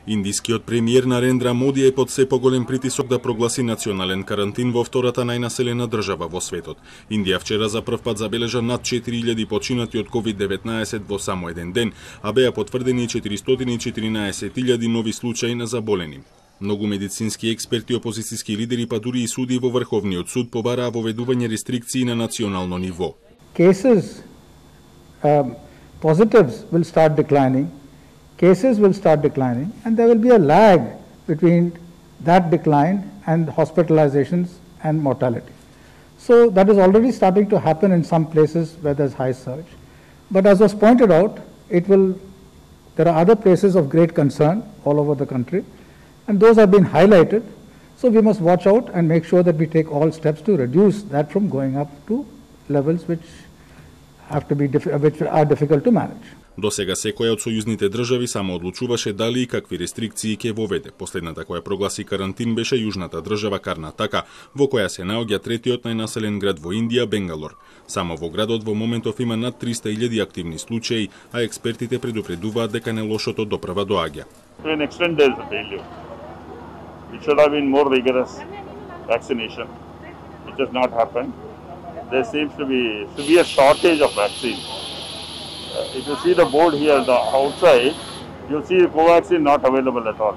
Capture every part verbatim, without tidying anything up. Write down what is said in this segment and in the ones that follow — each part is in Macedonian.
Индискиот премиер Нарендра Моди е под се поголем притисок да прогласи национален карантин во втората најнаселена држава во светот. Индија вчера за прв пат забележа над четири илјади починати од ковид деветнаесет во само еден ден, а беа потврдени четиристотини и четиринаесет илјади нови случаи на заболени. Многу медицински експерти и опозицијски лидери, па дури и суди во Врховниот суд побараа воведување рестрикции на национално ниво. Cases, um, positives will start declining. Cases will start declining, and there will be a lag between that decline and hospitalizations and mortality. So that is already starting to happen in some places where there's high surge. But as was pointed out, it will. There are other places of great concern all over the country, and those have been highlighted. So we must watch out and make sure that we take all steps to reduce that from going up to levels which have to be which are difficult to manage. До сега секоја од сојузните држави само одлучуваше дали и какви рестрикции ќе воведе. Последната која прогласи карантин беше јужната држава Карнатака, во која се наоѓа третиот најнаселен град во Индија, Бенгалор. Само во градот во моментов има над триста илјади активни случаи, а експертите предупредуваат дека нелошото допрва доаѓа. To an extent there is a failure. It should have been more rigorous vaccination. It has not happened. There seems to be severe shortage of vaccine. Uh, if you see the board here the outside, you'll see Covaxin not available at all.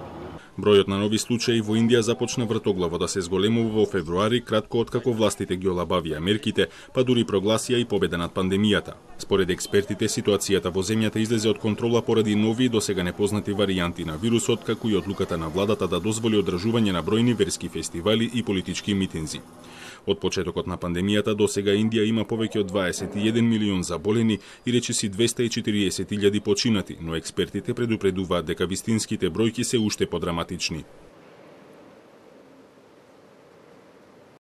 Бројот на нови случаи во Индија започна вртоглаво да се зголемува во февруари, кратко откако властите ги олабавија мерките, па дури прогласија и победа над пандемијата. Според експертите, ситуацијата во земјата излезе од контрола поради нови досега непознати варијанти на вирусот, како и одлуката на владата да дозволи одржување на бројни верски фестивали и политички митинзи. Од почетокот на пандемијата до сега Индија има повеќе од дваесет и еден милион заболени и речиси двесте и четириесет илјади починати, но експертите предупредуваат дека вистинските бројки се уште подраматични.